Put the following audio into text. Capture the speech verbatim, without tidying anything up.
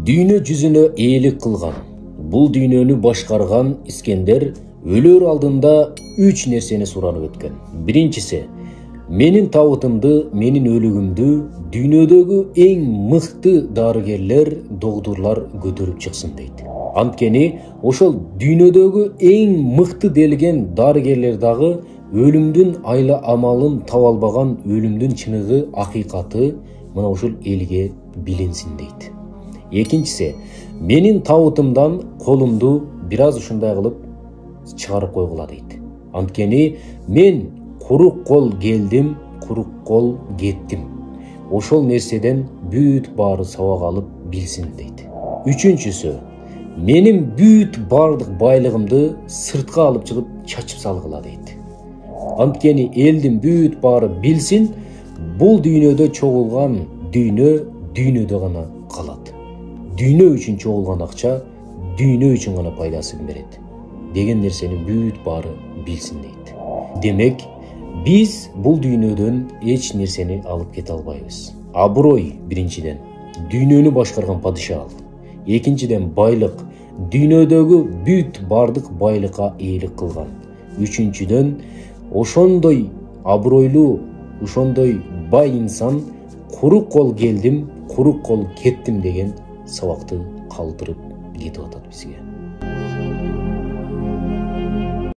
Дүйнө жүзүнө ээлик кылган, бул дүйнөнү башкарган Искендер өлөр алдында үч нерсени суранып өткөн. Биринчиси, менин табытымды, менин өлүгүмдү дүйнөдөгү эң мыкты дарыгерлер, доктурлар көтөрүп чыксын дейт. Анткени ошол дүйнөдөгү эң мыкты делген дарыгерлер дагы өлүмдүн айла амалын таба албаган, өлүмдүн чыныгы, акыйкаты мына ушул элге билинсин дейт. Экинчиси, менин табытымдан колумду бир аз ушундай кылып чыгарып койгула дейт. Анткени мен курук кол келдим, курук кол кеттим. Ошол нерседен бүт баары сабак алып билсин дейт. Үчүнчүсү, менин бүт бардык байлыгымды сыртка алып чыгып чачып салгыла дейт. Анткени элдин бүт баары билсин, бул дүйнөдө чогулган дүйнө дүйнөдө гана калат. Дүйнө үчүн чогулган акча дүйнө үчүн гана пайдасын берет деген нерсени бүт баары билсин дейт. Демек, биз бул дүйнөдөн эч нерсени алып кете албайбыз. Аброй биринчиден, дүйнөнү башкарган падыша ал. Экинчиден, байлык, дүйнөдөгү бүт бардык байлыкка ээлик кылган. Үчүнчүдөн, ошондой абройлуу, ошондой бай инсан курук кол келдим, курук кол кеттим деген сабакты калтырып кетип атат бизге.